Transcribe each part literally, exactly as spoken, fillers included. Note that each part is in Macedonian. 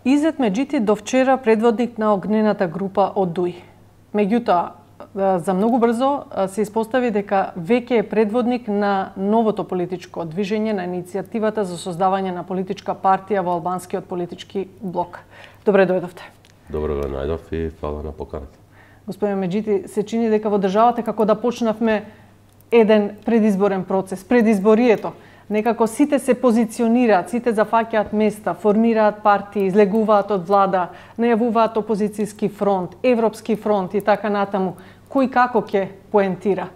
Изет Меджити до вчера предводник на огнената група од Дуи. Меѓутоа, за многу брзо се испостави дека веќе е предводник на новото политичко движење, на иницијативата за создавање на политичка партија во албанскиот политички блок. Добре дојдовте. Добро ве најдов и фала на поканата. Господин Меджити, се чини дека во државата како да почнавме еден предизборен процес, предизборието. Некако сите се позиционираат, сите зафаќаат места, формираат партии, излегуваат од влада, најавуваат опозицијски фронт, европски фронт и така натаму. Кој како ќе поентира?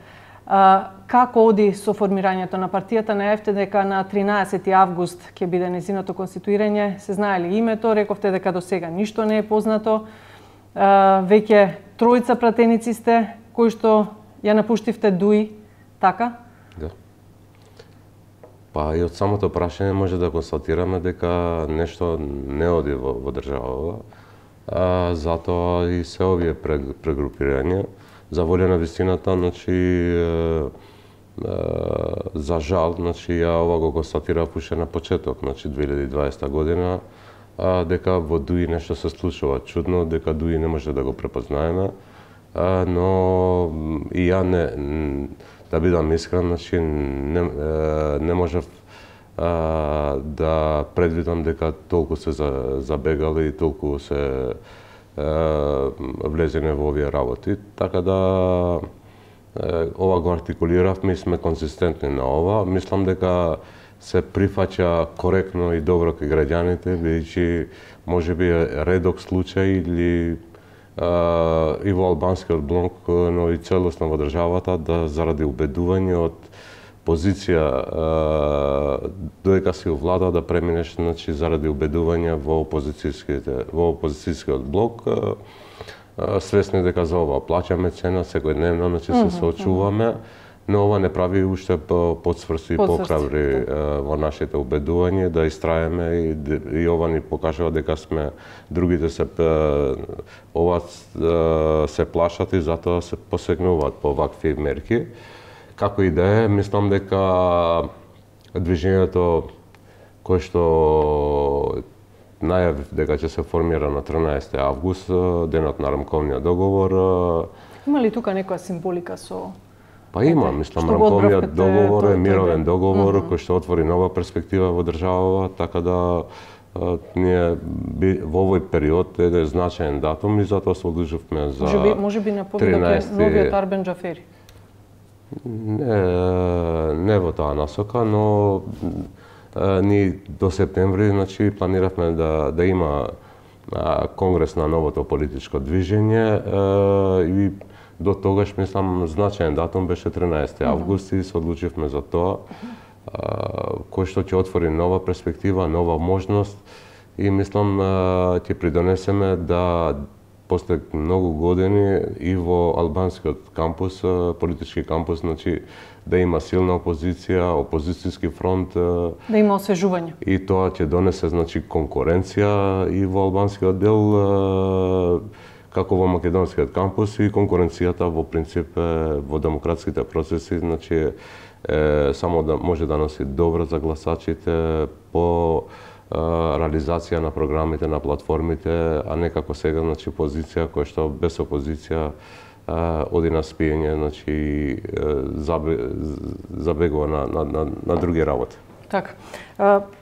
А, како оди со формирањето на партијата? Најавте дека на тринаесети август ќе биде нејзиното конституирање. Се знае ли името? Рековте дека до сега ништо не е познато. А, веќе тројца пратеници сте кои што ја напуштивте Дуи, така? Да. Па и од самото прашање може да констатираме дека нешто не оди во, во државава, а, затоа и се овие прегрупирања. За волја на вистината, значи, е, е, за жал, значи, ја ова го констатирав уште на почеток, значи две илјади и дваесета година, а, дека во Дуи нешто се случува чудно, дека Дуи не може да го препознаеме, а, но и ја не, да бидам искрен, значи, не, не можев а, да предвидам дека толку се забегали и толку се влезене во овие работи. Така да ова го артикулиравме и сме конзистентни на ова. Мислам дека се прифаќа коректно и добро кај граѓаните, бидејќи можеби редок случај или а, и во албанскиот блок, но и целосно во државата, да заради убедување од позиција додека си у влада да преминеш, значи, заради убедување во опозицијските во опозицијскиот блок, а, а, свесни дека за ова плаќаме цена секојдневно, значи се соочуваме, но ова не прави уште подсврсти и покрабри во нашите убедување да истраеме и, и ова ни покажува дека сме другите се ова се плашат и затоа се посегнуваат по вакви мерки. Како и да е, мислам дека движењето кој што најавив дека ќе се формира на тринаесети август, денот на рамковниот договор. Има ли тука некоја символика со... Па има, мислам, рамковниот договор е мировен договор кој што отвори нова перспектива во државава, така да ние во овој период е значаен датум и затоа се одлучивме за тринаесети. Може би на повидок е новиот Арбен Џафери. Не, не во таа насока, но е, ние до септември, значи, планиравме да, да има а, конгрес на новото политичко движење е, и до тогаш, мислам, значаен датум беше тринаесети август и се одлучивме за тоа, а, кој што ќе отвори нова перспектива, нова можност и мислам ќе придонесеме да после многу години и во албанскиот кампус, политички кампус, значи да има силна опозиција, опозицијски фронт, да има освежување. И тоа ќе донесе, значи, конкуренција и во албанскиот дел, како во македонскиот кампус, и конкуренцијата во принцип во демократските процеси, значи е, само да може да носи добро за гласачите по реализација на програмите, на платформите, а не како сега, значи, позиција која што без опозиција а, оди на спиење, значи, забегува на, на, на, на други работи. Така.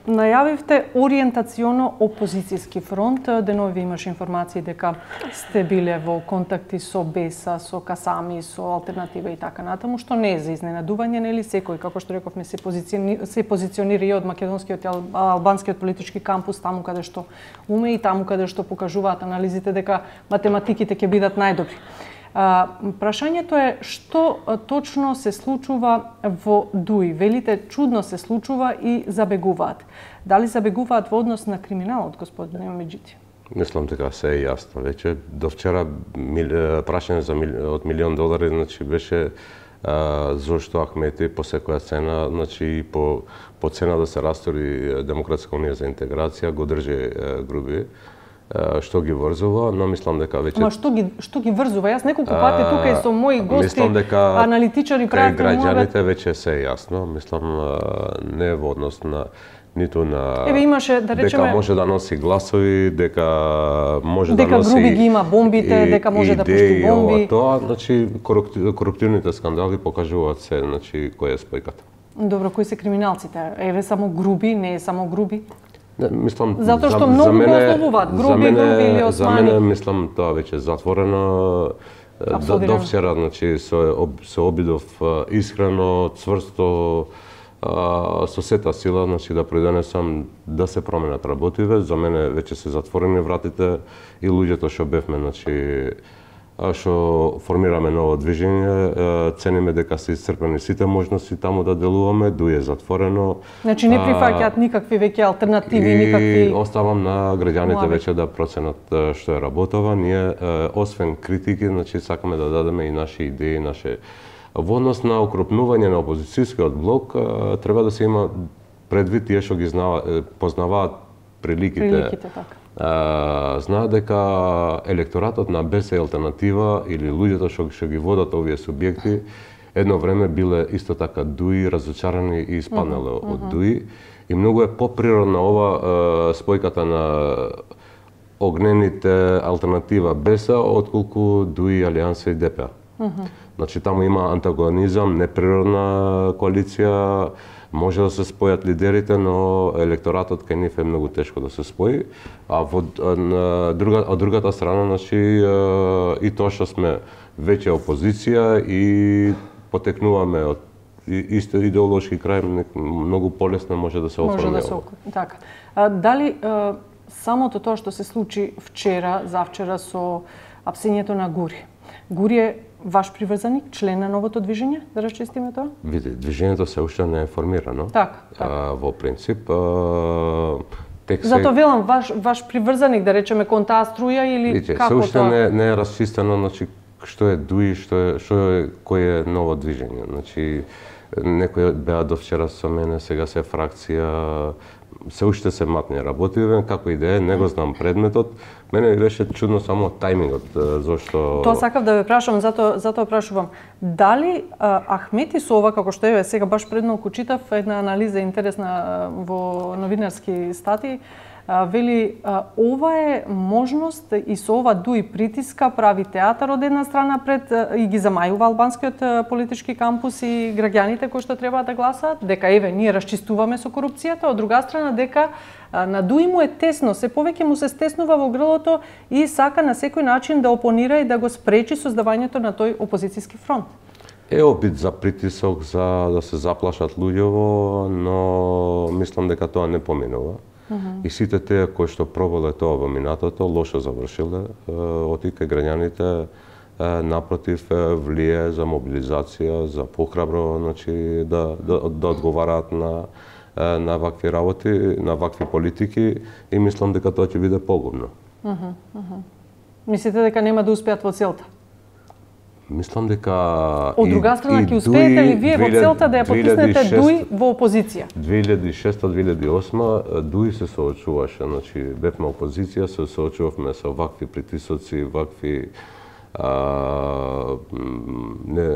Најавивте ориентационо опозицијски фронт. Денови имаш информации дека сте биле во контакти со Беса, со Касами, со Алтернатива и така натаму, што не е за изненадување, нели секој, како што рековме, се позиционира, се позиционира и од македонскиот и албанскиот политички кампус, таму каде што уме и таму каде што покажуваат анализите дека математиките ќе бидат најдобри. А, прашањето е што точно се случува во Дуи. Велите чудно се случува и забегуваат. Дали забегуваат во однос на криминалот, господин Меджити? Мислам дека се е јасно веќе. До вчера мил, прашање за мил, од милион долари, значи беше а, зошто Ахмети по секоја цена, значи по по цена да се растори Демократска унија за интеграција, го држи а, груби. што ги врзува, но мислам дека веќе... Ма што ги, што ги врзува? Јас неколку пати тука и со мои гости, аналитичари, пратени... Граѓаните веќе се е јасно, мислам, не во однос на ниту на... Еве имаше, да речеме... Дека може да носи гласови, дека може дека да носи... Дека Груби ги има бомбите, дека може да пушти бомби. Тоа, значи, коруптивните скандали покажуваат се, значи, која е спојката. Добро, кои се криминалците? Еве само Груби, не е само Груби? Не, мислам, затоа што многу го ословуваат, Груби, Груби или Османи. За мене, мислам, тоа веќе затворено. До вчера, значи, се обидов искрено, цврсто, со сета сила, значи, да придонесам да се променат работиве. За мене веќе се затворени вратите и луѓето што бевме, значи, што формираме ново движење, цениме дека се исцрпени сите можности таму да делуваме, дуј е затворено. Значи не прифаќаат никакви веќе алтернативи, и никакви... И оставам на граѓаните веќе да проценат што е работова. Ние, освен критики, значи сакаме да дадеме и наши идеи, наше... Во однос на укрупнување на опозицијскиот блок, треба да се има предвид тие што ги познаваат приликите. Приликите, така. Знаат дека електоратот на БЕС е алтернатива или луѓето што што ги водат овие субјекти едно време биле исто така дуи, разочарани и испаднале uh -huh, од дуи и многу е поприродна ова спојката на огнените алтернатива БЕС-а отколку дуи, Алијанса и ДП. Uh -huh. Значи таму има антагонизам, неприродна коалиција. Може да се спојат лидерите, но електоратот кај нив е многу тешко да се спои. А во на друга од другата страна, значи и тоа што сме веќе опозиција и потекнуваме од исто идеолошки крај, многу полесно може да се оформи. Може да се така. А, дали а, самото тоа што се случи вчера, завчера со апсењето на Гури. Гури е ваш приврзаник, член на новото движење, да расчистиме тоа? Види, движењето се уште не е формирано. Така, така. А, во принцип, а, тек се... Зато велам, ваш, ваш приврзаник, да речеме, кон таа струја или Видите, како тоа? се уште не, не е расчистено, значи, што е ДУИ, што е, што е, кој е ново движење. Значи, некои беа до вчера со мене, сега се фракција, се уште се матни работиве, како и да е, не го знам предметот. Мене ми беше чудно само тајмингот, зашто... Тоа сакав да ве прашам, затоа затоа прашувам. Дали а, Ахмети со ова, како што еве сега баш пред малку читав една анализа интересна во новинарски статии, а, вели а, ова е можност и со ова дуи притиска прави театар од една страна пред а, и ги замајува албанскиот а, политички кампус и граѓаните кои што треба да гласаат, дека еве ние расчистуваме со корупцијата, од друга страна дека а, на дуи му е тесно, се повеќе му се стеснува во грлото и сака на секој начин да опонира и да го спречи создавањето на тој опозицијски фронт. Е обид за притисок, за да се заплашат луѓево, но мислам дека тоа не поминува. Uh -huh. И сите тие кои што пробале тоа во минатото, лошо завршиле, отика граѓаните напротив влие за мобилизација, за похрабро, значи да да, да одговараат на на вакви работи, на вакви политики и мислам дека тоа ќе биде погубно. Uh -huh, uh -huh. Мислите дека нема да успеат во целта? Мислам дека... Од друга страна, ќе успеете ли вие во целта да ја потиснете ДУИ во опозиција? две илјади и шеста - две илјади и осма ДУИ се соочуваше, значи бевме опозиција, се соочувавме со вакви притисоци, вакви а, не,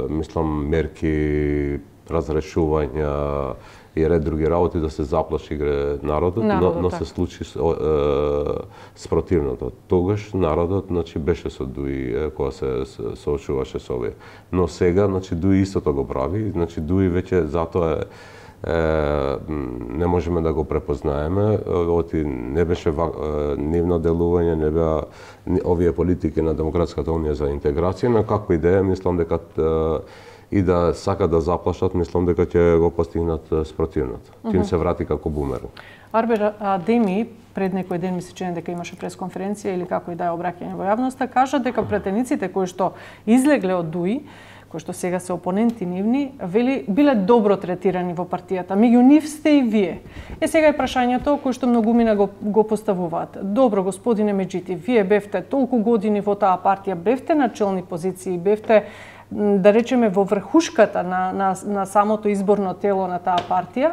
мислам мерки, разрешувања и ред други работи да се заплаши народот, народот но, но так. се случи е, спротивното. Тогаш народот, значи, беше со ДУИ кога се соочуваше со овие. Но сега, значи, ДУИ истото го прави, значи ДУИ веќе затоа е, е не можеме да го препознаеме, оти не беше нивно делување, не беа овие политики на Демократската унија за интеграција, но како идеја, мислам дека и да сака да заплашат, мислам дека ќе го постигнат спротивното. Ќе им се врати како бумеранг. Арбер Адеми пред некој ден ми се чини дека имаше пресконференција или како и да е обраќање во јавноста, кажа дека претениците кои што излегле од ДУИ, кои што сега се опоненти нивни, вели биле добро третирани во партијата. Меѓу нив сте и вие. Е сега е прашањето кој што многумина го, го поставуваат. Добро, господине Меджити, вие бевте толку години во таа партија, бевте на челни позиции, бевте да речеме во врхушката на, на, на самото изборно тело на таа партија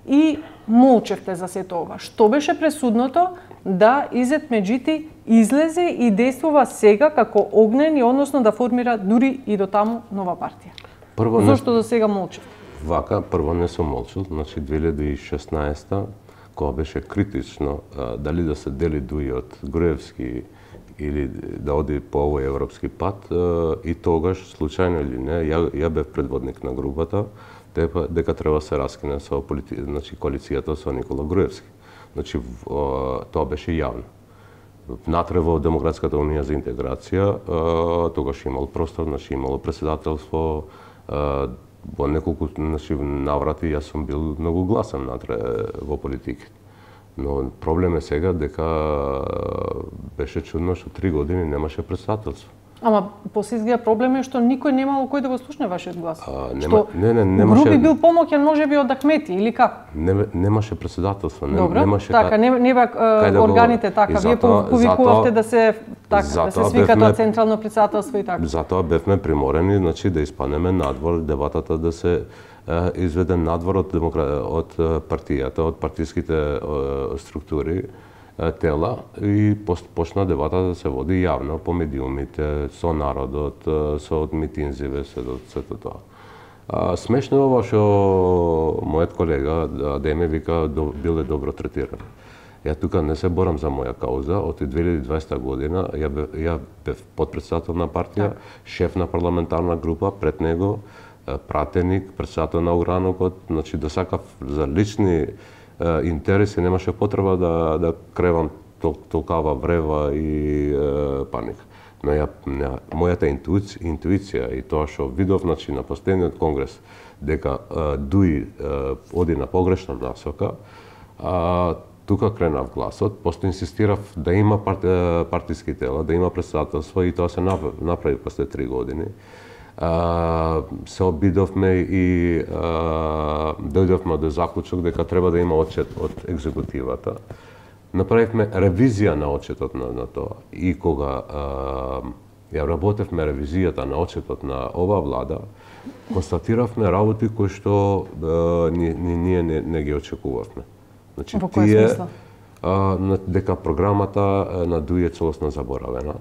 и молчевте за сето ова. Што беше пресудното да Изет Меджити излезе и действува сега како огнен и односно да формира дури и до таму нова партија? Прво Зошто не... до сега молчи? Вака, прво не сум молчал, значи две илјади и шеснаесета, кога беше критично а, дали да се дели дуи од Груевски или да оди по овој европски пат, а, и тогаш, случајно или не, ја, ја бев предводник на групата, дека, дека треба се раскине со полити... значи, коалицијата со Никола Груевски. Значи, тоа беше јавно. Натре во Демократската унија за интеграција, тогаш имал простор, значи имало председателство, во неколку значи, наврати јас сум бил многу гласен натре во политиката. Но проблем е сега дека беше чудно што три години немаше председателство. Ама после изгледа проблем е што никој немало кој да го слушне вашиот глас. А, нема, што не, не, немаше... Груби бил помоќен можеби од Ахмети или како? Не, немаше председателство, не, Добро, немаше така, не, не бе да органите го... така, вие повикувавте да се така, да се свика тоа централно председателство и така. Затоа бевме приморени, значи да испаднеме надвор, дебатата да се е, изведе надвор од демокра... од партијата, од партиските е, структури, тела и почна дебата да се води јавно по медиумите, со народот, со од митинзиве, се до сето тоа. А, смешно е ова што мојот колега Адеме вика биле добро третирани. Ја тука не се борам за моја кауза, од две илјади и дваесета година ја бев, ја бев подпредседател на партија, шеф на парламентарна група, пред него пратеник, председател на огранокот, значи да сакав за лични интереси, немаше потреба да, да кревам тол, толкава врева и е, паника. Но ја, не, мојата интуиција, интуиција и тоа што видов значи, на последниот конгрес, дека е, Дуи е, оди на погрешна насока, а, тука кренав гласот, после инсистирав да има парти, партиски тела, да има председателство и тоа се направи после три години. Uh, се обидовме и uh, дојдовме до заклучок дека треба да има отчет од екзекутивата. Направивме ревизија на отчетот на, на тоа. И кога uh, ја работевме ревизијата на отчетот на ова влада, констатиравме работи кои што uh, ни, ни, ние не, не ги очекувавме. Значи, во кој смисла? Uh, дека програмата на Дуи е целосно заборавена.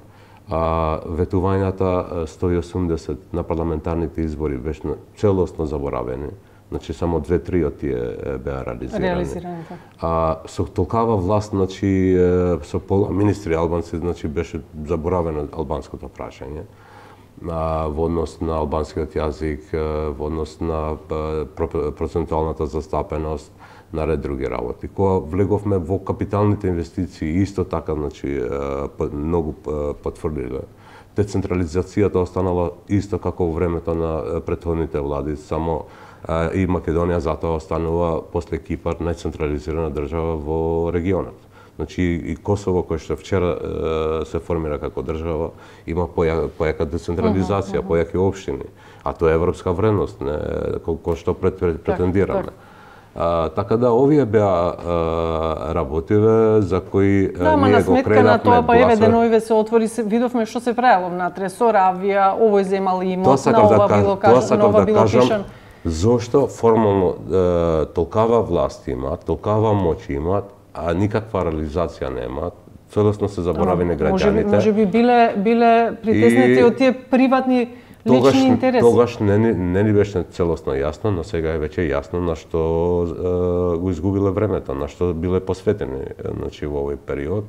А, ветувањата сто и осумдесет на парламентарните избори беше целосно заборавени. Значи само две-три од тие беа реализирани. Реализирани, така. А со толкава власт, значи со пола министри албанци, значи беше заборавено албанското прашање. А, во однос на албанскиот јазик, во однос на процентуалната застапеност, наред други работи. Кога влеговме во капиталните инвестиции, исто така, значи, многу потврдиле. Децентрализацијата останала исто како во времето на претходните влади, само и Македонија затоа останува после Кипар најцентрализирана држава во регионот. Значи и Косово, кој што вчера се формира како држава, има поја, појака децентрализација, uh -huh, uh -huh. појаки општини, а тоа е европска вредност, не, кој што пред, пред, претендираме. Так, так. А, така да овие беа работиве за кои да, ние го кренавме на тоа, па еве деновиве се отвори, се, видовме што се правело внатре, со Равија, овој земал имот, на ова да, било кажа, на ова да било кажам, пишан. Зошто формално е, толкава власт има, толкава моќ има, а никаква реализација нема, целосно се заборавени граѓаните. Може би биле биле притеснети и од тие приватни Тогаш, лични интереси. Тогаш не, не ни беше целосно јасно, но сега е веќе јасно на што е, го изгубиле времето, на што биле посветени значи, во овој период.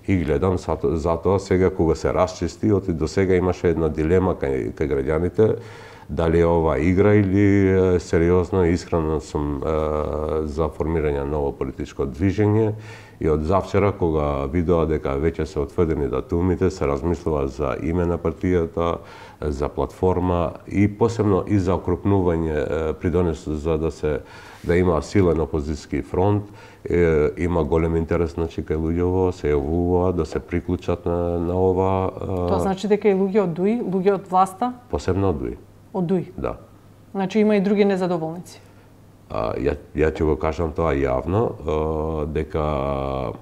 И гледам, затоа, затоа сега кога се расчисти, оти до сега имаше една дилема кај, кај граѓаните, дали е ова игра или е, сериозно и искрено сум е, за формирање ново политичко движење. И од завчера, кога видоа дека веќе се отведени датумите, се размислува за име на партијата, за платформа и посебно и за окрупнување придонес за да се да има силен опозицијски фронт. Е, има голем интерес значи кај луѓето, се јавува да се приклучат на, на ова. Тоа значи дека и луѓе од Дуи, луѓе од власта? Посебно од Дуи. Од Дуи? Да. Значи има и други незадоволници? А, ја, ја ќе го кажам тоа јавно, а, дека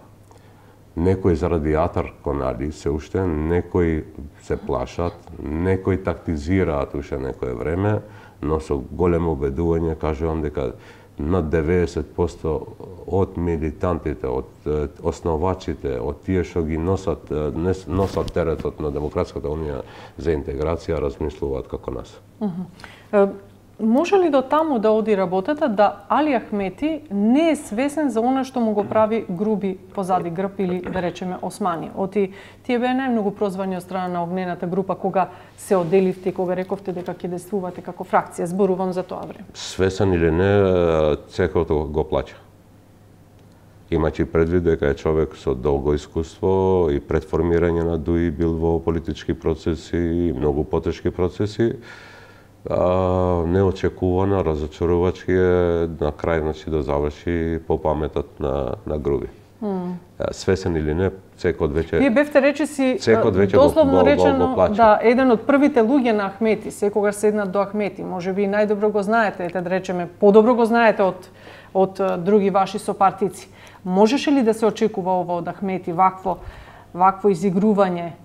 некои заради атар конали се уште, некои се плашат, некои тактизираат уште некое време, но со големо убедување кажувам дека над деветдесет проценти од милитантите, од основачите, од тие што ги носат носат теретот на Демократската унија за интеграција, размислуваат како нас. Uh-huh. Може ли до таму да оди работата да Али Ахмети не е свесен за она што му го прави Груби позади грб или да речеме Османи? Оти тие беа најмногу прозвани од страна на огнената група кога се одделивте и кога рековте дека ќе действувате како фракција. Зборувам за тоа време. Свесен или не, цекото го плаќа. Имајќи предвид дека е човек со долго искуство и пред формирање на ДУИ бил во политички процеси и многу потешки процеси, А, неочекувано, разочарувачки е на крај, значи, да заврши по паметот на, на Груби. Mm. Свесен или не, цекот веќе... Вие бевте речиси, веќе дословно го, го, речено, го, го да, еден од првите луѓе на Ахмети, секогаш седнат до Ахмети, може би најдобро го знаете, ете да речеме, подобро го знаете од, од други ваши сопартици. Можеше ли да се очекува ова од Ахмети, вакво, вакво изигрување?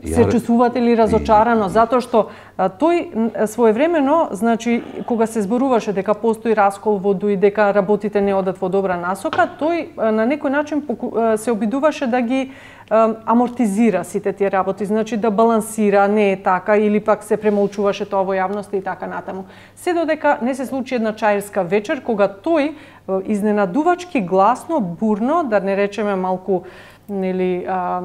Се чувствувате ли разочарано затоа што а, тој своевремено, значи кога се зборуваше дека постои раскол во ДУИ, дека работите не одат во добра насока, тој а, на некој начин а, се обидуваше да ги а, амортизира сите тие работи, значи да балансира, не е така или пак се премолчуваше тоа во јавноста и така натаму. Се додека не се случи една чаирска вечер кога тој а, изненадувачки гласно, бурно, да не речеме малку нели а,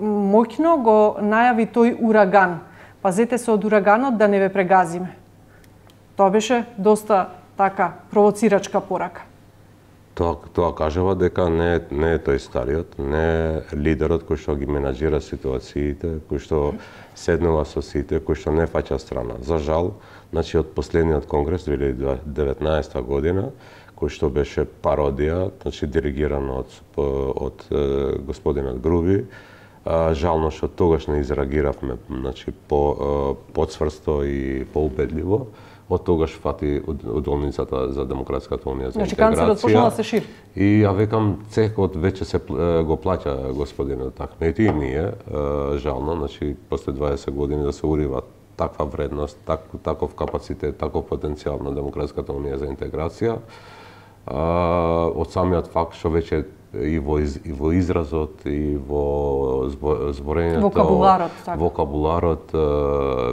моќно го најави тој ураган. Пазете се од ураганот да не ве прегазиме. Тоа беше доста така провоцирачка порака. Тоа, тоа кажува дека не, не е тој стариот, не е лидерот кој што ги менаџира ситуациите, кој што седнува со сите, кој што не фаќа страна. За жал, значи од последниот конгрес две илјади и деветнаесета година, кој што беше пародија, значи диригиран од, од, од господинот Груби, жално што тогаш не изреагиравме, значи по подсврсто и поубедливо. Од тогаш фати удолницата за Демократската унија за значи, интеграција. Значи канцерот почнал да се шири. И ја векам цекот веќе се го плаќа господинот Ахмети и ние, жално, значи после дваесет години да се урива таква вредност, так, таков капацитет, таков потенцијал на Демократската унија за интеграција. Од самиот факт што веќе и во, из, и во изразот и во зборењето, вокабуларот, така. Вокабуларот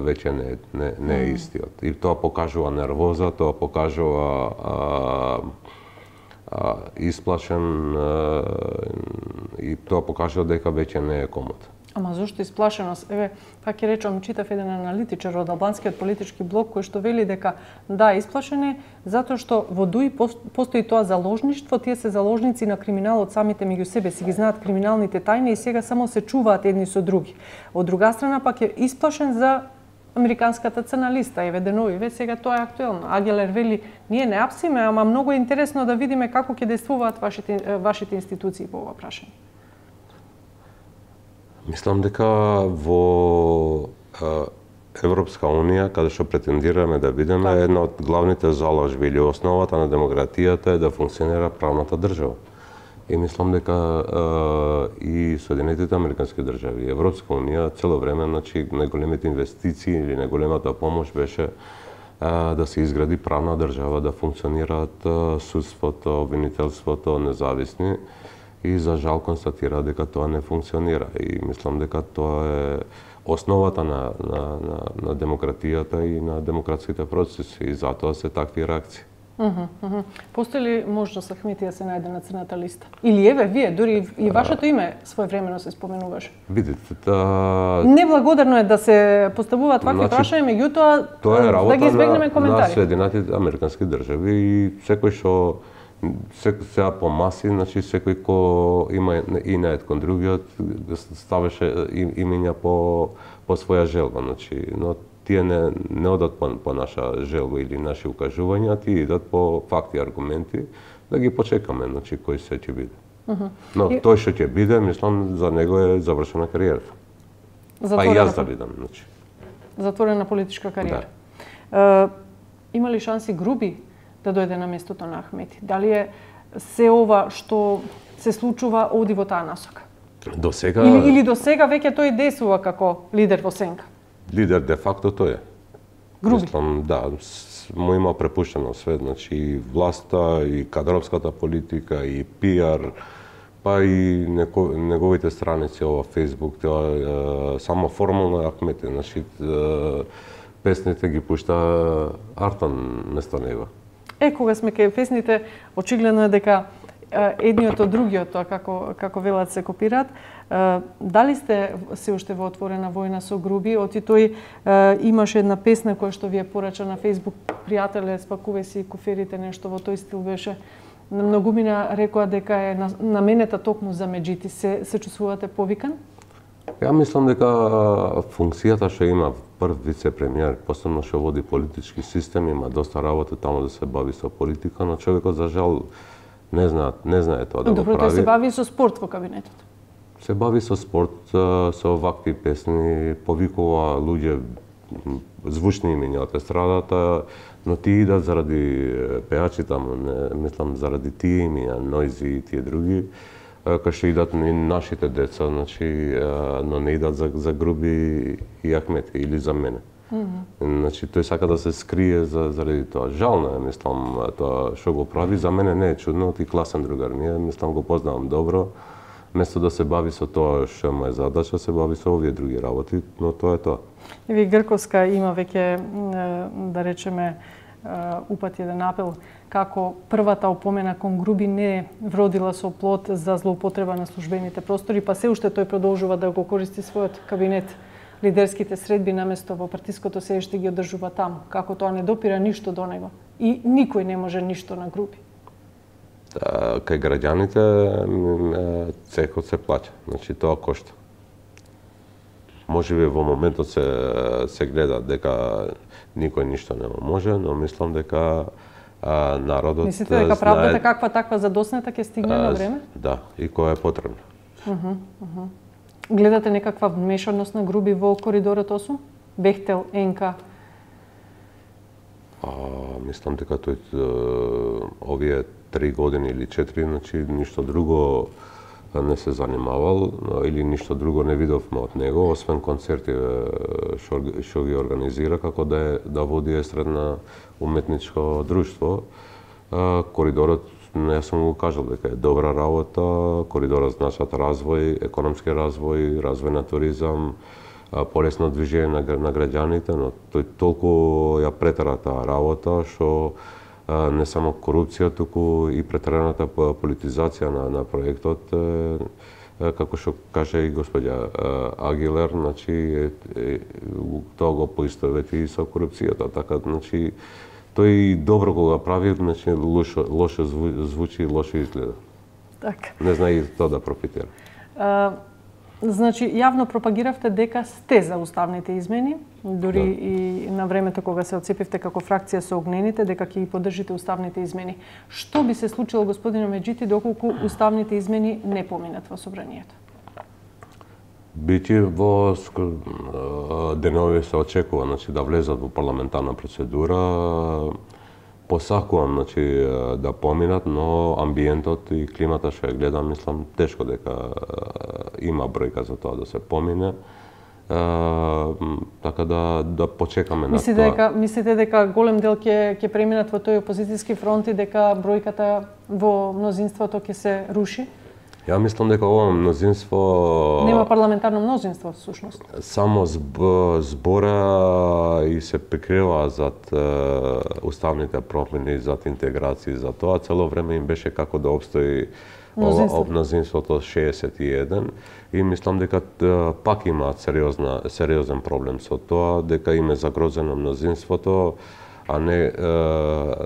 веќе не, не, не е истиот. И тоа покажува нервоза, тоа покажува а, а, исплашен а, и тоа покажува дека веќе не е комот. Ама зошто исплашеност? Еве, пак ќе речам, читав еден аналитичар од албанскиот политички блок кој што вели дека да, исплашен е затоа што во ДУИ постои тоа заложништво, тие се заложници на криминалот самите меѓу себе, си ги знаат криминалните тајни и сега само се чуваат едни со други. Од друга страна пак е исплашен за американската цена листа, еве деновиве, сега тоа е актуелно. Агелер вели, ние не апсиме, ама многу е интересно да видиме како ќе действуваат вашите, вашите институции по ова прашање. Мислам дека во Европска унија, каде што претендираме да бидеме, една од главните заложби или основата на демократијата е да функционира правната држава. И мислам дека и Соединетите американски држави, и Европска унија цело време, значи, најголемите инвестиции или најголемата помош беше да се изгради правна држава, да функционираат судството, обвинителството, независни. И за жал констатира дека тоа не функционира. И мислам дека тоа е основата на, на, на, на демократијата и на демократските процеси. И затоа се такви реакции. Uh -huh, uh -huh. Постои ли можност Ахмети да се најде на црната листа? Или еве, вие, дури и вашето име своевремено се споменуваше. Видите, та... Неблагодарно е да се поставуваат вакви значи, прашања, меѓутоа да ги избегнеме коментари. На Соединетите американски држави и секој што сега по маси, значи секој кој има и наед кон другиот ставеше имења по по своја желба, значи, но тие не не одат по, по наша желба или наши укажувања, тие идат по факти и аргументи, да ги почекаме, значи кој се ќе биде. Uh -huh. Но и... тој што ќе биде, мислам за него е завршена кариерата. Затворена... Па и јас да бидам, значи. Затворена политичка кариера. Да. Uh, има ли шанси Груби да дојде на местото на Ахмети? Дали е се ова што се случува оди во таа насока? До сега... Или, или до сега веќе тој действува како лидер во сенка? Лидер де факто тој е. Груби? Мислам, да, му има препуштено све, значи и власта, и кадровската политика, и пиар, па и неко, неговите страници ова Facebook, тоа е, само формално е Ахмети, значи е, песните ги пушта Артан место него. Е, кога сме кај песните, очигледно е дека едниот од другиот, тоа како како велат се копираат. Дали сте се уште во отворена војна со Груби? Оти тој имаше една песна која што ви е порача на Facebook, пријателе, спакувај си куферите, нешто во тој стил беше. На многумина рекоа дека е наменета токму за меѓити. Се се чувствувате повикан? Ја мислам дека функцијата што има прв вице-премиер, посебно што води политички систем, има доста работа таму да се бави со политика, но човекот за жал не знае, не знае тоа да Добро, го прави. Добро, тој се бави со спорт во кабинетот. Се бави со спорт, со вакви песни, повикува луѓе звучни имиња од естрадата, но тие идат заради пеачи таму, не мислам заради тие имиња, Нојзи и тие други, кај што идат и нашите деца, значи, но не идат за, за Груби и Ахмети или за мене. Mm -hmm. Значи, тој сака да се скрие за, заради тоа. Жално е, мислам, тоа што го прави. За мене не е чудно, ти класен другар ми е, мислам, го познавам добро. Место да се бави со тоа што му е задача, се бави со овие други работи, но тоа е тоа. Еви Грковска има веќе, да речеме, упати еден апел, како првата опомена кон Груби не вродила со плод за злоупотреба на службените простори, па се уште тој продолжува да го користи својот кабинет, лидерските средби наместо во партиското седиште ги одржува таму, како тоа не допира ништо до него и никој не може ништо на Груби. Кај граѓаните цехот се плаќа, значи тоа кошта. Можеби во моментот се се гледа дека никој ништо не може, но мислам дека а, народот Мислите дека правдата каква таква задоснета ќе стигне а, на време? Да, и која е потребна. Uh -huh, uh -huh. Гледате некаква вмешаност на Груби во коридорот осум? Бехтел, Енка? А, мислам дека тој овие три години или четири, значи ништо друго не се занимавал или ништо друго не видовме од него, освен концерти што, што ги организира како да е, да води естрадно уметничко друштво. Коридорот, јас сум го кажал дека е добра работа, коридорот значат развој, економски развој, развој на туризам, полесно движење на, на граѓаните, но тој толку ја претера таа работа што не само корупција, туку и претераната политизација на, на проектот, како што каже и господја Агилер, значи тоа го поистовети и со корупцијата, така значи тој добро кога прави, значи лошо лошо звучи и лошо изгледа. Така. Не знае и тоа да профитира. Uh... Значи, јавно пропагиравте дека сте за уставните измени, дури да. И на времето кога се отцепивте како фракција со огнените, дека ќе ги поддржите уставните измени. Што би се случило, господине Меджити, доколку уставните измени не поминат во собранието? Биќе во денови се очекува, значи, да влезат во парламентарна процедура. Посакувам, значи, да поминат, но амбиентот и климата што ја гледам, мислам, тешко дека има бројка за тоа да се помине. Uh, така да да почекаме мислите на тоа. Дека, мислите дека голем дел ќе ќе преминат во тој опозицијски фронт и дека бројката во мнозинството ќе се руши? Ја мислам дека ова мнозинство нема парламентарно мнозинство всушност. Само зб, збора и се прикрива зад е, уставните промени, зад интеграција, за тоа цело време им беше како да обстои мнозинство. Ова мнозинството шеесет и еден и мислам дека е, пак имаат сериозна сериозен проблем со тоа, дека им е загрозено мнозинството, а не е,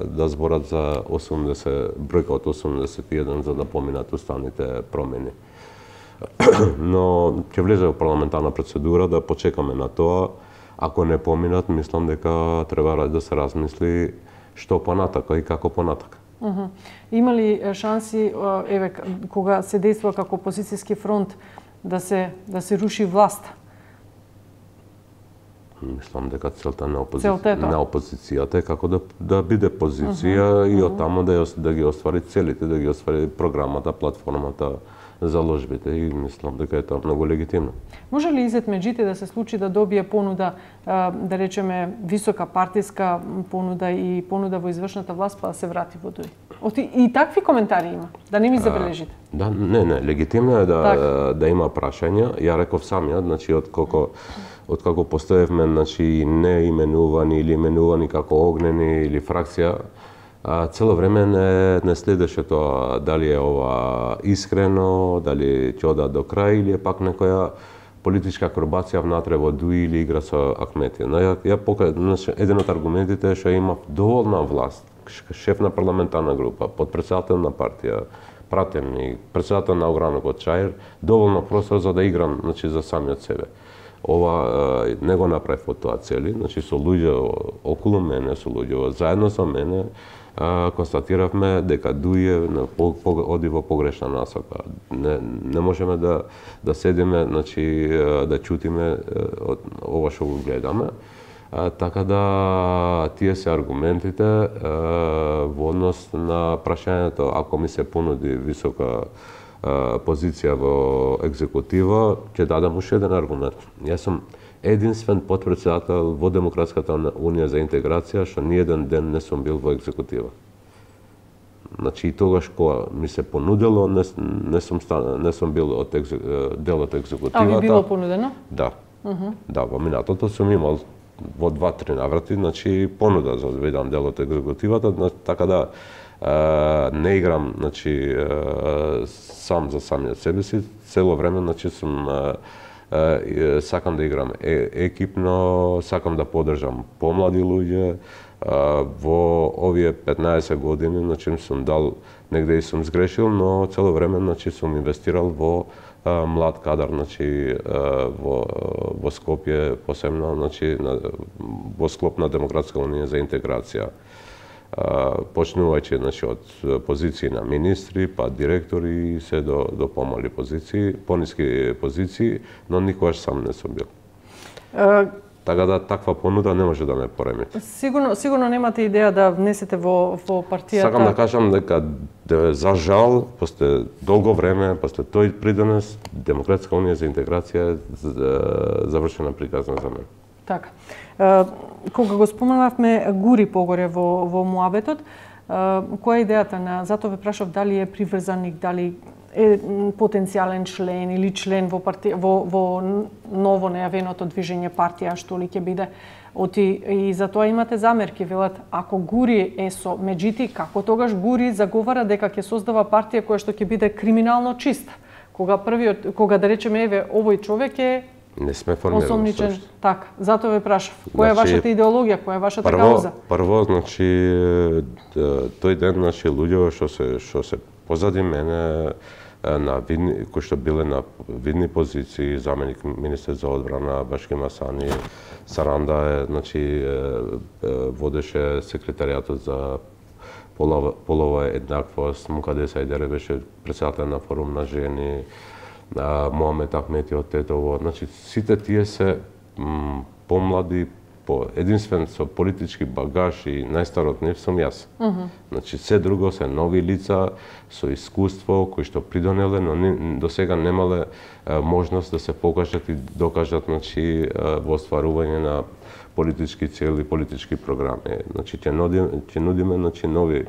да зборат за осумдесет, бројка од осумдесет и еден за да поминат уставните промени. Но ќе влезе во парламентарна процедура, да почекаме на тоа. Ако не поминат, мислам дека треба да се размисли што понатака и како понатака. Uh -huh. Има ли шанси, еве, кога се действува како опозицијски фронт, да се да се руши власт? Мислам дека целта на, опози... целта на опозицијата е како да, да биде позиција uh -huh. и од таму да, да ги оствари целите, да ги оствари програмата, платформата заложбите и мислам дека е тоа многу легитимно. Може ли Изет Меджити да се случи да добие понуда, да речеме, висока партиска понуда и понуда во извршната власт, па да се врати во ДОИ? И такви коментари има, да не ми забележите. А, да, не, не, легитимно е да, так. да има прашања. Ја реков самиот, значи, од колко од како постоевме, значи, не именувани или именувани како огнени или фракција, а, цело време не, не следеше тоа дали е ова искрено, дали ќе ода до крај или е пак некоја политичка акробација внатре во ДОИ или игра со Ахметија. Но ја, ја пока, значи, еден од аргументите е што има доволна власт, шеф на парламентарна група, подпредседател на партија, пратеник, председател на огранокот Чаир, доволно простор за да играм, значи, за самиот себе. Ова не го направив од тоа цели, значи со луѓе околу мене, со луѓе заедно со мене, а, констатиравме дека ДОИ е по, по, оди во погрешна насока. Не, не можеме да да седиме, значи да чутиме од ова што го гледаме. А, така да тие се аргументите а, во однос на прашањето ако ми се понуди висока позиција во екзекутива, ќе дадам уште еден аргумент. Јас сум единствен подпредседател во Демократската унија за интеграција што ни еден ден не сум бил во екзекутива. Значи и тогаш кога ми се понудело, не, не сум стан, не сум бил од екзе, дел од екзекутивата. А ви било понудено? Да. Uh -huh. Да, во минатото сум имал во два-три наврати, значи понуда за да бидам дел од екзекутивата, така да не играм, значи, сам за самиот себе си, цело време, значи, сум, сакам да играм екипно, сакам да поддржам помлади луѓе. Во овие петнаесет години, значи, сум дал, негде и сум сгрешил, но цело време, значи, сум инвестирал во млад кадар, значи, во, во Скопје, посебно, значи, во склоп на Демократска унија за интеграција. Почнувајќи, значи, од позиции на министри, па директори, се до, до помали позиции, пониски позиции, но никогаш сам не сум бил. Uh, така да таква понуда не може да ме пореми. Сигурно, сигурно немате идеја да внесете во, во партијата. Сакам да кажам дека, за жал, после долго време, после тој придонес, Демократска унија за интеграција е завршена приказна за мене. Така. Кога го споменавме Гури погоре во, во муабетот, која е идејата на, затоа ве прашав дали е приврзаник, дали е потенцијален член или член во, парти, во, во ново најавеното движење партија, што ли ќе биде. Оти, и затоа имате замерки, велат, ако Гури е со Меджити, како тогаш Гури заговара дека ќе создава партија која што ќе биде криминално чиста. Кога првиот, кога да речеме, еве, овој човек е не сме формирани. Осомничен, така. Затоа ве прашав. Која е вашата идеологија, која е вашата прво, кауза? Прво, значи, тој ден, значи, луѓе што се што се позади мене на видни, кои што биле на видни позиции, заменик министер за одбрана Башки Масани, Саранда е, значи, водеше секретаријатот за полова, полова еднаквост, Мукадеса Айдере беше председател на форум на жени, Муамет Ахмети од Тетово, значи сите тие се м, помлади, по единствен со политички багаж и најстар од нив сум јас. Uh -huh. Значи се друго се нови лица со искуство кои што придонеле, но ни, до сега немале е, можност да се покажат и докажат, значи, во остварување на политички цели, политички програми. Значи ќе нудиме, ќе нудиме, значи, нови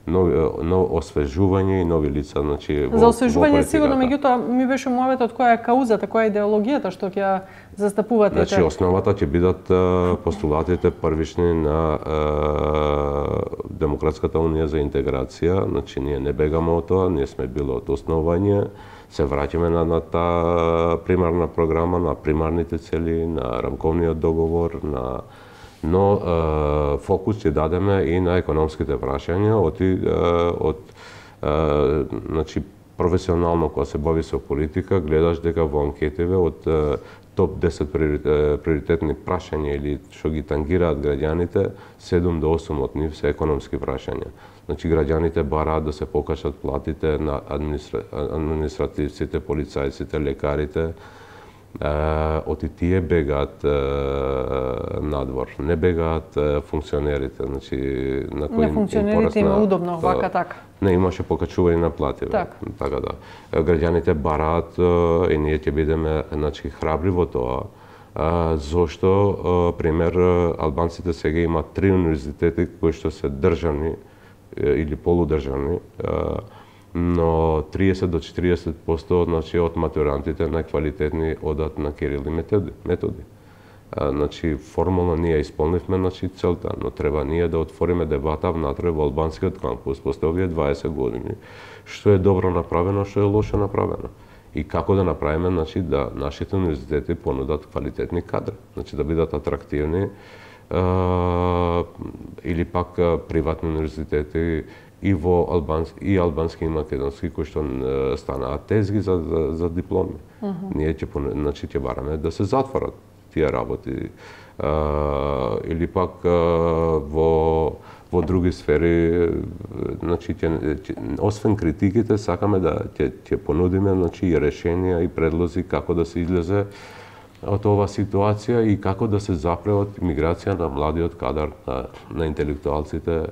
нови ново освежување и нови лица, значи во, за освежување сигурно, меѓутоа ми беше муаветот која е каузата, која е идеологијата што ќе ја застапувате. Значи основата ќе бидат постулатите првични на е, Демократската унија за интеграција, значи ние не бегаме од тоа, ние сме били од основање, се враќаме на, на таа примарна програма, на примарните цели, на рамковниот договор, на но е, фокус ќе дадеме и на економските прашања, од, од е, значи, професионално кога се бави со политика, гледаш дека во анкетиве од е, топ десет приоритетни прашања или што ги тангираат граѓаните, седум до осум од нив се економски прашања. Значи граѓаните бараат да се покачат платите на администра... административците, полицајците, лекарите, оти тие бегаат надвор, не бегаат функционерите, значи на кои на функционерите има удобно вака така. Не, имаше покачување на плати. Так. Така да. Граѓаните бараат и ние ќе бидеме значи храбри во тоа. Зошто, пример, албанците сега имаат три универзитети кои што се државни или полудржавни, но триесет до четириесет проценти значи од матурантите најквалитетни одат на Кирил и методи. методи. Значи формално ние исполнивме значи целта, но треба ние да отвориме дебата внатре во албанскиот кампус после овие дваесет години, што е добро направено, што е лошо направено. И како да направиме значи да нашите универзитети понудат квалитетни кадри, значи да бидат атрактивни, или пак приватни универзитети и во албански и албански и македонски кои што станаат тезги за за, за дипломи. Uh -huh. Ние ќе значи ќе бараме да се затворат тие работи. А, или пак а, во во други сфери, значи ќе, ќе, освен критиките сакаме да ќе ќе понудиме значи и решенија и предлози како да се излезе од оваа ситуација и како да се запре од миграција на младиот кадар, на, на интелектуалците,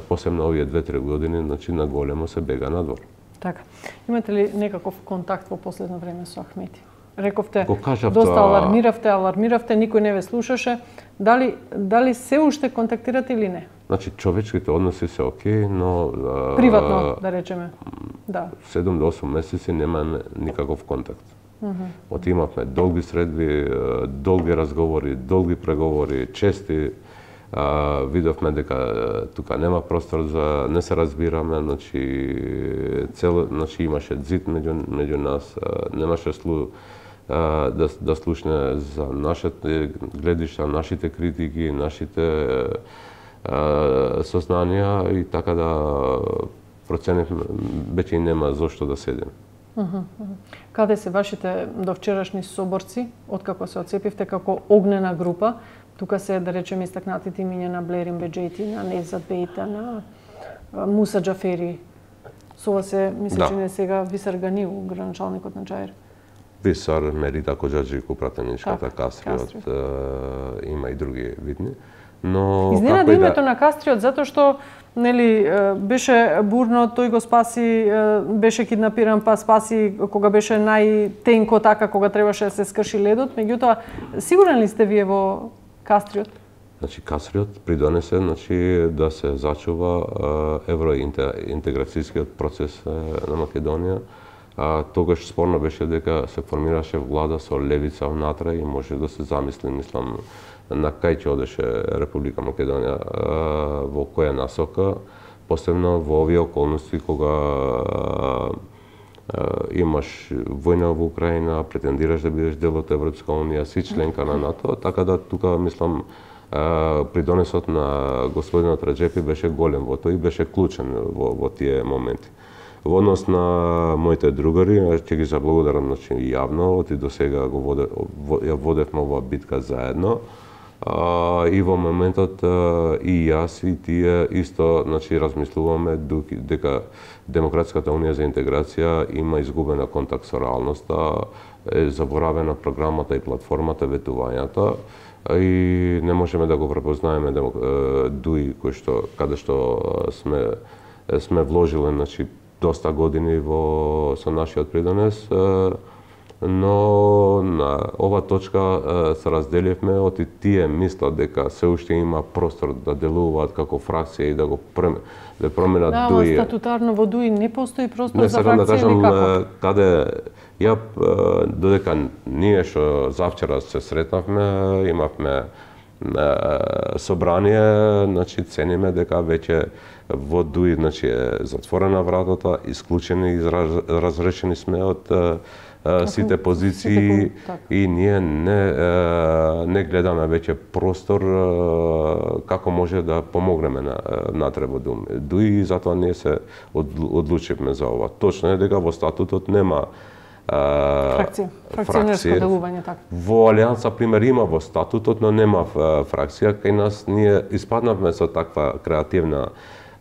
посебно овие две-три години, значи на големо се бега надвор. Така. Имате ли некаков контакт во последно време со Ахмети? Рековте, кажав, доста тоа... алармиравте, алармиравте, никој не ве слушаше. Дали дали се уште контактирате или не? Значи човечките односи се окей, но приватно, да речеме. Да. седум до осум месеци немаме никаков контакт. Uh -huh. Оти имавме долги средби, долги разговори, долги преговори, чести. А, видовме дека тука нема простор за не се разбираме, значи цел, значи имаше зид меѓу меѓу нас, а, немаше слу а, да да слушне за нашите гледишта, нашите критики, нашите а, сознанија и така да проценивме веќе нема зошто да седим. Uh -huh. Каде се вашите довчерашни соборци, откако се отцепивте како огнена група? Тука се, да речеме, истакнатите имиња на Блерин Беџети, на Невзат Бейта, на Муса Џафери. Со ова се, мисля, да. че не сега Висар Ганил, граначалникот на Џаир. Висар, Мерита Коџаџику, пратеничката, Кастриот, е, има и други видни. Но изненади името да... на Кастриот затоа што нели беше бурно, тој го спаси, беше киднапиран, па спаси кога беше најтенко така, кога требаше да се скрши ледот. Меѓутоа, сигурен ли сте вие во Кастриот? Значи Кастриот придонесе значи да се зачува евроинтеграцијскиот процес на Македонија. А, тогаш спорно беше дека се формираше влада со левица внатре и може да се замисли, мислам, на кај ќе одеше Република Македонија, во која насока, посебно во овие околности кога имаш војна во Украина, претендираш да бидеш дел од Европска унија, си членка на НАТО, така да тука мислам придонесот на господинот Реджепи беше голем во тоа и беше клучен во, во тие моменти. Во однос на моите другари, ќе ги заблагодарам значи јавно, оти до сега го воде, ја водевме оваа битка заедно. Uh, и во моментот uh, и јас и тие исто значи размислуваме дека Демократската унија за интеграција има изгубена контакт со реалноста, е заборавена програмата и платформата, ветувањата и не можеме да го препознаеме демок... дуи кој што каде што сме сме вложиле значи доста години во со нашиот придонес. Но на ова точка се разделивме, оти тие мислат дека се уште има простор да делуваат како фракција и да го прем... да променат да, дуи. Да, статутарно во дуи не постои простор не, за фракција да кажам, никако. Каде ја додека ние што завчера се сретнавме, имавме собрание, значи цениме дека веќе во дуи значи е затворена вратата, исклучени и разрешени сме од сите позиции и ние не не гледаме веќе простор како може да помогнеме на натре во дуи и затоа ние се одлучивме за ова. Точно е дека во статутот нема фракција, фракционерско делување така. Во Алијанса пример има во статутот, но нема фракција. Кај нас ние испаднавме со таква креативна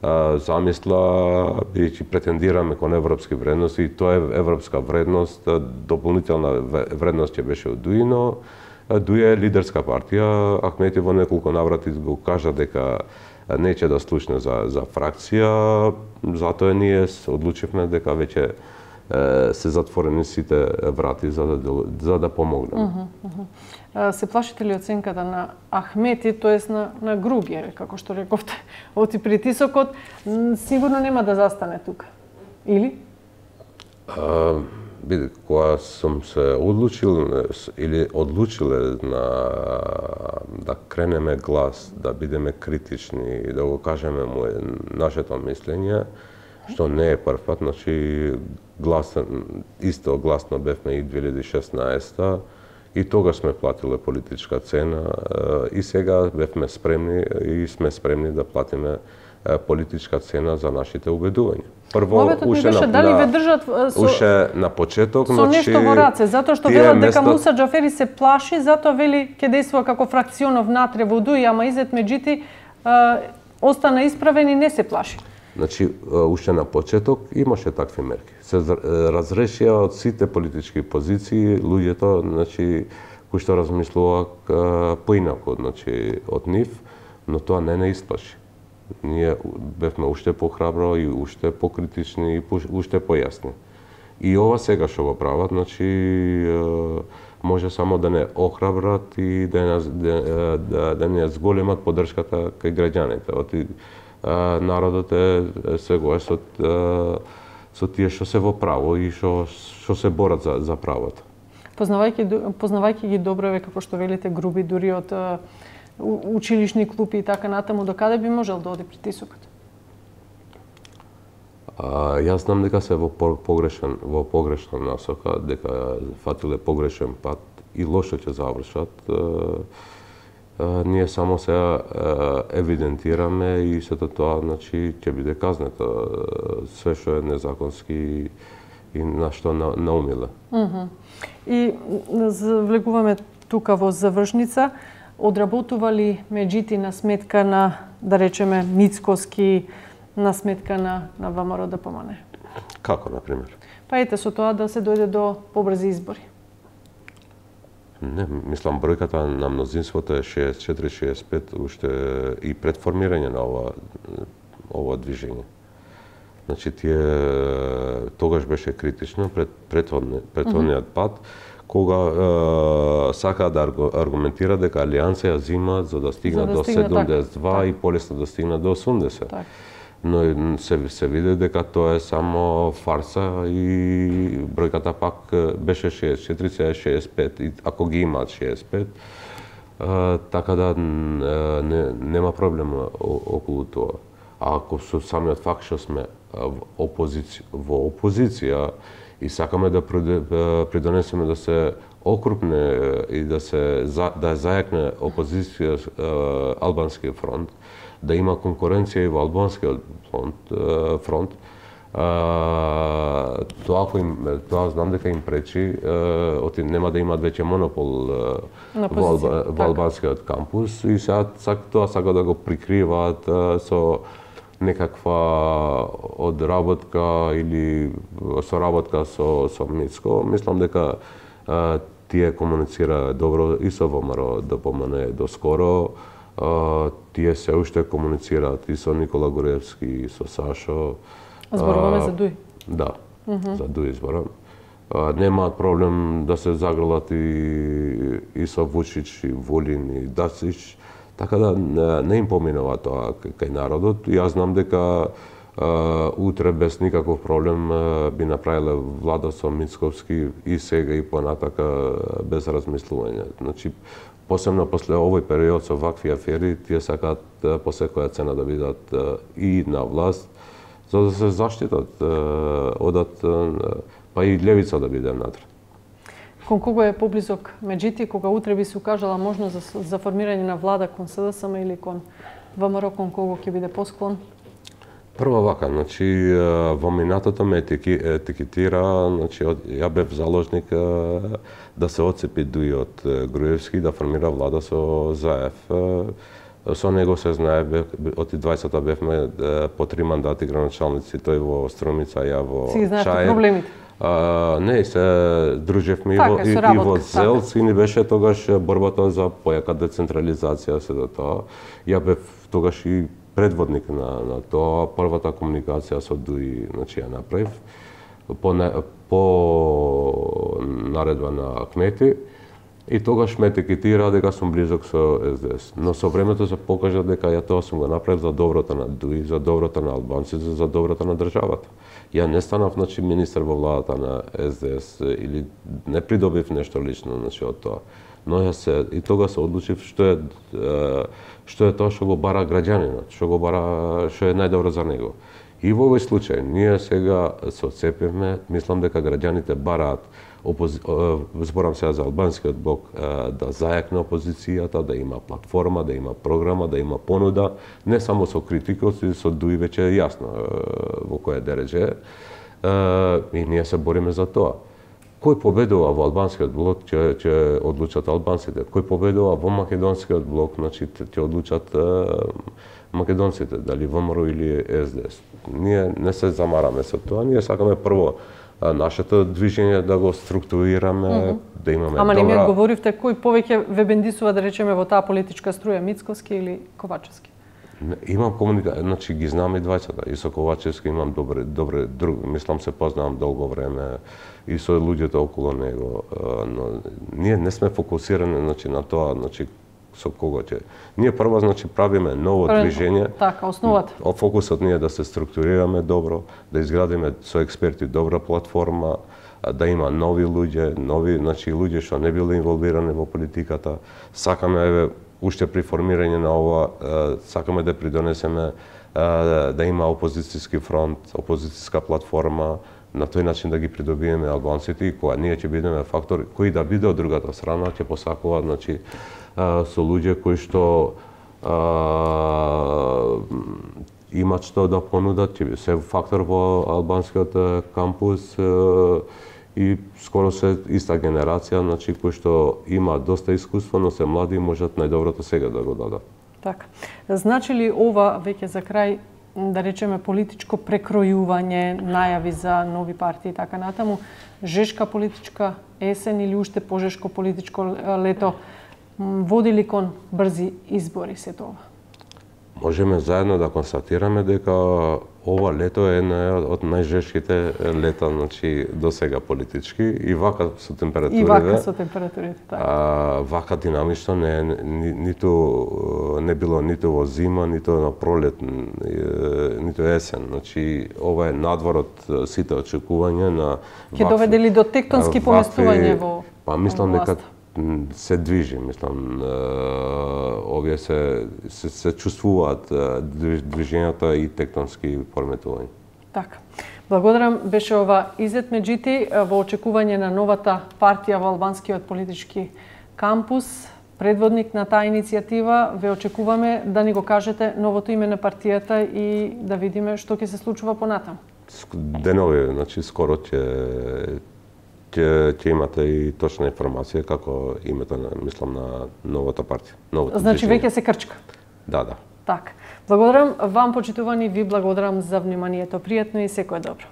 замисла, бидејќи претендираме кон европски вредности, и тоа е европска вредност, дополнителна вредност ќе беше од Дуи, но Дуи е лидерска партија. Ахмети во неколку наврати го кажа дека неќе да слушне за, за фракција, затоа ние одлучивме дека веќе се затворени сите врати за да, за да помогнеме. Uh -huh, uh -huh. Се плашите ли оценката на Ахмети, тоест на, на Грубиеве, како што рековте, оти притисокот, сигурно нема да застане тука, или? А, биде, кога сум се одлучил или одлучиле на да кренеме глас, да бидеме критични и да го кажеме му нашето мислење, што не е прв пат, значи глас, исто гласно бевме и две илјади и шеснаесета, и тогаш сме платиле политичка цена, и сега бевме спремни и сме спремни да платиме политичка цена за нашите убедувања. Прво, уште на, дали ве држат со, уште на почеток, со нешто значи, во раце, затоа што велат дека место... Муса Џафери се плаши, затоа вели ќе действува како фракционов натре во Дуи, ама Изет Меджити остана исправен и не се плаши. Значи, уште на почеток имаше такви мерки. Се разрешија од сите политички позиции луѓето, значи, кои што размислуваа поинако, значи, од нив, но тоа не не исплаши. Ние бевме уште похрабро и уште покритични и уште појасни. И ова сега што го прават, значи, може само да не охрабрат и да не, да, да, да не зголемат поддршката кај граѓаните. Оти, народот е сегој со, со тие што се во право и што што се борат за, за правото. Познавајќи, познавајќи ги добро, како што велите, Груби, дури од училишни клупи и така натаму, до каде би можел да оди притисокот? А, јас знам дека се во погрешен, во погрешна насока, дека фатиле погрешен пат и лошо ќе завршат. А, а, ние само се евидентираме и сето тоа, значи, ќе биде казнето све што е незаконски и на што на, наумиле. Uh -huh. И влегуваме тука во завршница. Одработува ли Меджити на сметка на, да речеме, Мицкоски, на сметка на, на ВМРО ДПМН? Како, например? Па ете, со тоа да се дојде до побрзи избори. Не, мислам, бројката на мнозинството е шеесет и четири шеесет и пет, уште и пред формирање на ова, ова движење. Значи, тие тогаш беше критично пред претходниот пат, кога е, сака да аргументира дека Алијанса ја зима за да стигнат да до седумдесет и два так, и полесно да стигнат до осумдесет. Так. Но се, се види дека тоа е само фарса и бројката пак беше шеесет и четири шеесет и пет, и ако ги имаат шеесет и пет, е, така да не, нема проблем околу тоа. А ако со самиот факт што сме опозиција, во опозиција и сакаме да придонесеме да се окрупне и да се да зајакне опозиција албанскиот фронт, да има конкуренција и во албанскиот фронт, фронт а, тоа кој им, тоа знам дека им пречи, оти нема да имаат веќе монопол во, алба, во албанскиот кампус и сега тоа сака да го прикриваат со некаква одработка или соработка со, со Мицко. Мислам дека а, тие комуницира добро и со ВМРО ДПМН доскоро. А, тие се уште комуницираат и со Никола Груевски, и со Сашо. Зборуваме за Дуи. Да, mm -hmm. за Дуи зборам. Немаат проблем да се загрелат и, и со Вучич, и Волин, и Дацич. Така да не им поминува тоа кај народот. Јас знам дека а, утре без никаков проблем а, би направиле влада со Мицковски и сега и понатака без размислување. Значи, посебно после овој период со вакви афери, тие сакаат по секоја цена да бидат а, и на власт, за да се заштитат, а, одат, а, па и левица да биде внатре. Кон кого е поблизок Меджити, кога утре би се укажала можност за, за формирање на влада кон СДСМ или кон ВМРО, кон кого ќе биде посклон? Прво вака, значи во минатото ме етикетира, значи ја бев заложник да се отцепи Дуи од Груевски, да формира влада со ЗАЕФ. Со него се знае, од дваесетта бевме по три мандати градоначалници, тој во Струмица, ја во Си знаете Чаир. проблемите? А, не, се дружевме така, и, и, и во Зелц, и ни беше тогаш борбата за појака децентрализација, се до тоа. Ја бев тогаш и предводник на, на тоа, првата комуникација со ДУИ, значи ја направив, по, по наредба на кмети, и тогаш ме етикетира дека сум близок со Ес Де Ес. Но со времето се покажа дека ја тоа сум го направив за доброто на ДУИ, за доброто на албанците, за доброто на државата. Ја не станав, значи, министер во владата на Ес Де Ес или не придобив нешто лично, значи, од тоа. Но ја се и тога се одлучив што е што е тоа што го бара граѓанинот, што го бара, што е најдобро за него. И во овој случај ние сега се отцепивме, мислам дека граѓаните бараат опози... зборам сега за албанскиот блок, да зајакне опозицијата, да има платформа, да има програма, да има понуда, не само со критикот, и со ДУИ веќе е јасно во која дереже. И ние се бориме за тоа. Кој победува во албанскиот блок, ќе, ќе одлучат албанците. Кој победува во македонскиот блок, значи ќе одлучат македонците, дали ВМРО или Ес Де Ес. Ние не се замараме со тоа, ние сакаме прво нашето движење да го структурираме, mm -hmm. да имаме Ама добра... не ми одговоривте кој повеќе ве бендисува, да речеме, во таа политичка струја, Мицковски или Ковачевски? Имам комуникација, значи ги знам и двајцата. И со Ковачевски имам добре, добре, друг, мислам се познавам долго време и со луѓето околу него, но ние не сме фокусирани, значи, на тоа, значи, со кого ќе. Ние прво, значи, правиме ново Прво, движење. Така, основата. Фокусот ни е да се структурираме добро, да изградиме со експерти добра платформа, да има нови луѓе, нови, значи, луѓе што не биле инволвирани во политиката. Сакаме, еве, уште при формирање на ова, сакаме да придонесеме да има опозицијски фронт, опозицијска платформа, на тој начин да ги придобиеме албанците, и кога ние ќе бидеме фактор, кој да биде од другата страна, ќе посакува, значи, со луѓе кои што а, имат што да понудат, ќе се фактор во албанскиот кампус а, и скоро се иста генерација, значи, кои што има доста искуство, но се млади и можат најдоброто сега да го дадат. Така. Значи ли ова, веќе за крај, да речеме, политичко прекројување, најави за нови партии и така натаму, жешка политичка есен или уште пожешко политичко лето, води ли кон брзи избори се тоа? Можеме заедно да констатираме дека ова лето е една од најжешките лета, значи, до сега политички, и вака со температурите. И вака со температурите, така. А, вака динамично не е, ни, ниту не било ниту во зима, ниту на пролет, ниту есен. Значи, ова е надвор од сите очекувања на... Ќе доведе ли до тектонски поместување во... Па мислам дека се движи, мислам, овие се, се, се чувствуваат движењата и тектонски пореметувања. Така. Благодарам, беше ова Изет Меджити во очекување на новата партија во албанскиот политички кампус. Предводник на таа иницијатива, ве очекуваме да ни го кажете новото име на партијата и да видиме што ќе се случува понатаму. Денови, значи, скоро ќе ќе ќе имате и точна информација како името на, мислам, на новата партија. Новото значи веќе се крчка. Да, да. Така. Благодарам вам, почитувани, ви благодарам за вниманието. Пријатно и секое добро.